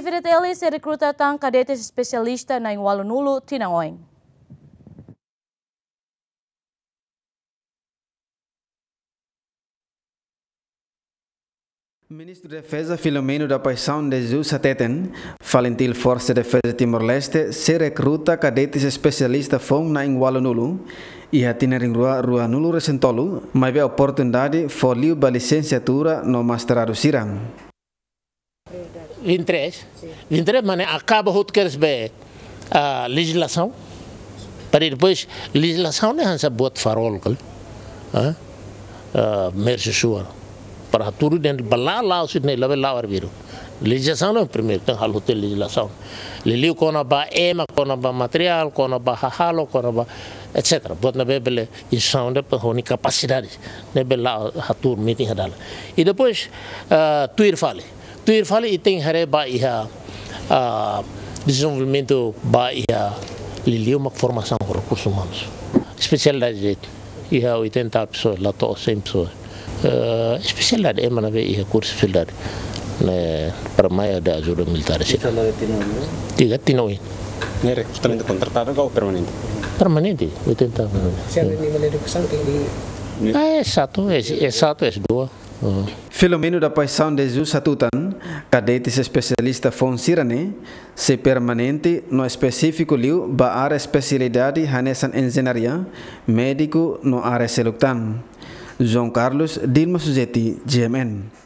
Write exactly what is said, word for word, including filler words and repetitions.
F D T L sei rekruta tan kadete espesialista na'in-ualunulu tinan oin. Ministru Defeza Filomeno da Paixão de Jesus hateten, FALINTIL Forsa Defeza Timor-Leste sei rekruta kadete espesialista foun na'in-ualunulu iha tinan rihun rua ruanulu-resin-tolu, maibé oportunidade fó liu ba lisensiatura no mestradu sira. Vinte e três. Vinte e três, maibé akaba hotu kedas be, ah, lejizlasaun. Para depois, lejizlasaun ne'e hanesan buat farol, kal. Ah? Ah, mersi suar. Para tudu den bala lau sit ne'e labe lau arbiru. Lejizlasaun ne'e primeiru, tenke halo hotu lejizlasaun. Liuliu kona-ba ema, kona-ba materiál, kona-ba hahalok, kona-ba, et cetera. Buat ne'ebé bele instrusaun de'it para ho nia kapasidade. Ne'ebé la hatuur metin iha dalan. I depois, ah, tuir fali. Tuir fali ita haree ba iha, ah, dezenvolvimentu ba iha liuliu mak formasaun rekursus umanus. Espesialidade de'it. Iha oitenta pessoas, la to'o cem pessoas. Eh, espesialidade, ema ne'ebé iha kursu espesialidade. Ne'e, para mai atu ajuda militár sira. Espesialidade tinan oin? Tiga tinan oin. Ne'e rekrutamentu kontratadu ka permanente? Permanente, oitenta permanente. Sira ne'e nia edukasaun tenke... Ah, S satu, S, S satu, S dua. Filomeno da Paixão de Jesus hatutan, kadete espesialista foun sira-ne'e sei permanente no espesífiku liu ba área espesialidade hanesan enjeñaria, médiku no área seluk tan. João Carlos, Dilma Suzeti, G M N.